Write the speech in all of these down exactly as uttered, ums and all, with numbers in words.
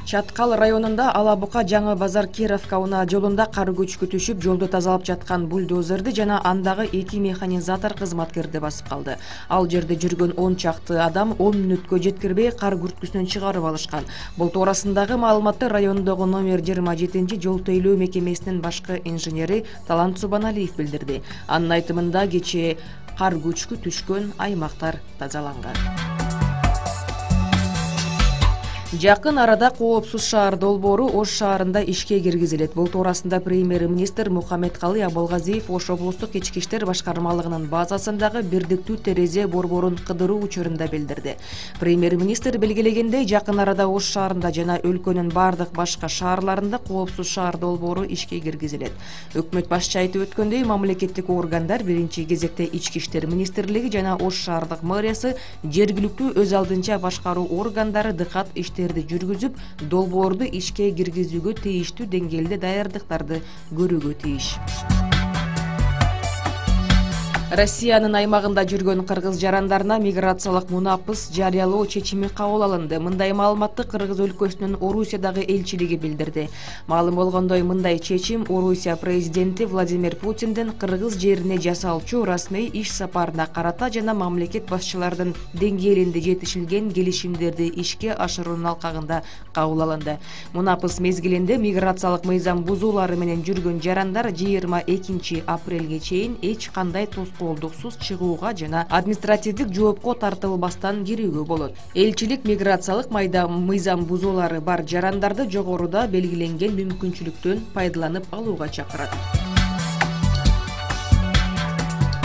Чаткал районунда Алабука Жаңы базар Кировка унаа жолунда кар көчкү түшүп, жолду тазалап жаткан бульдозерди жана андагы эки механизатор кызматкерди басып калды. Ал жерде жүргөн он чакты адам он мүнөткө жеткирбей кар күрткүсүнөн чыгарып алышкан. Бул туурасындагы маалыматты райондогу номер жыйырма жетинчи жол тейлөө мекемесинин башкы инженери Талант Субаналиев билдирди. Анын айтымында кечээ кар көчкү түшкөн аймактар тазаланган. Жакын арада коопсуз шаар долбоору Ош шаарында ишке киргизилет. Бул туурасында премьер-министр Мухаммедкалый Абылгазиев Ош облустук ички иштер башкармалыгынын базасындагы бирдиктүү терезе борборун кыдыруу учурунда билдирди. Премьер-министр белгилегендей, жакын арада Ош шаарында жана өлкөнүн бардык башка шаарларында коопсуз шаар долбоору ишке киргизилет. Өкмөт башчы айтып өткөндөй, мамлекеттик органдар биринчи кезекте ички иштер министрлиги жана Ош шаардык мэриясы жергиликтүү өз алдынча башкаруу органдары дыкат иштер жүргүзүп, долбоорду ишке киргизүүгө тийиштүү деңгээлде даярдыктарды көрүүгө тийиш. Россиянын аймагында жүргөн кыргыз жарандарына миграциялык мунапыс жарыялоо чечими кабыл алынды. Мындай маалыматты Кыргыз өлкөсүнүн Орусиядагы элчилиги билдирди. Маалым болгондой, мындай чечим Орусия президенти Владимир Путиндин кыргыз жерине жасалчу расмий иш сапарына карата жана мамлекет башчыларынын деңгээлинде жетишилген келишимдерди ишке ашыруунун алкагында кабыл алынды. Мунапыс мезгилинде миграциялык мыйзам бузуулары менен жүргөн жарандар жыйырма экинчи апрелге чейин эч кандай колдуксуз чыгууга жана административдик жоопко тартылбастан кирүүгө болот. Элчилик миграциялык майда мыйзам бузуулары бар жарандарды жогоруда белгиленген мүмкүнчүлүктөн пайдаланып алууга чакырат.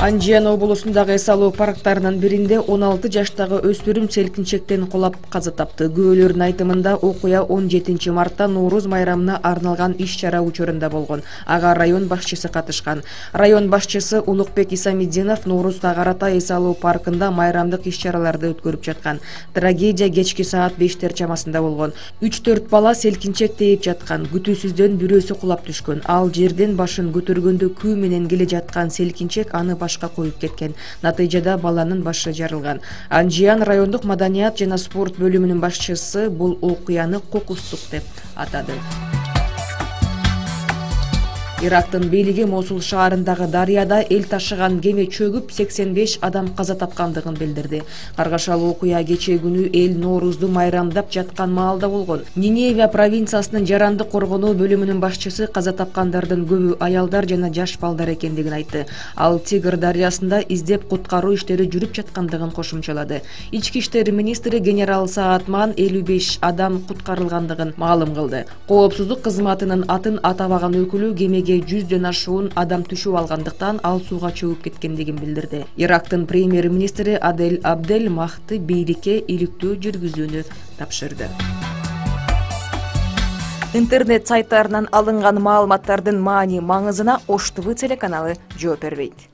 Анжиан облусундагы эс алуу парктарынын биринде он алты жаштагы өспүрүм селкинчектен кулап каза тапты. Күбөлөрдүн айтымында окуя он жетинчи мартта Нооруз майрамына арналган иш-чара учурунда болгон. Ага район башчысы катышкан. Район башчысы Улукбек Исамиддинов Ноорузга карата эс алуу паркында майрамдык иш-чараларды өткөрүп жаткан. Трагедия кечки саат бештер чамасында болгон. үч төрт бала селкинчек тээп жаткан. Күтүүсүздөн бирөөсү кулап түшкөн. Ал жерден башын көтөргөндө күү менен келе жаткан селкинчек аны башка коюп кеткен. Натыйжада баланын башы жарылган. Анжиан райондук маданият жана спорт бөлүмүнүн башчысы бул окуяны кокустук деп атады. Ирактын бийлиги Мосул шаарындагы дарыяда эл ташыган кеме чөгүп сексен беш адам каза тапкандыгын билдирди. Каргашалуу окуя кечээ күнү эл Ноорузду майрамдап жаткан маалда болгон. Ниневия провинциясынын жарандык коргонуу бөлүмүнүн башчысы каза тапкандардын көбү аялдар жана жаш балдар экендигин айтты. Ал Тигр дарыясында издеп куткаруу иштери жүрүп жаткандыгын кошумчалады. Ички иштер министри генерал Саатман элүү беш адам куткарылгандыгын маалым кылды. Коопсуздук кызматынын атын атабаган өкүлү кемеге жүздөн ашуун адам түшүп алгандыктан ал сууга чөгүп кеткендигин билдирди. Ирактын премьер-министри Адель Абдель Махди бийликке иликтөө жүргүзүүнү тапшырды. Интернет сайттарынан алынган маалыматтардын маани маңызына Ош ТВ телеканалы жооп бербейт.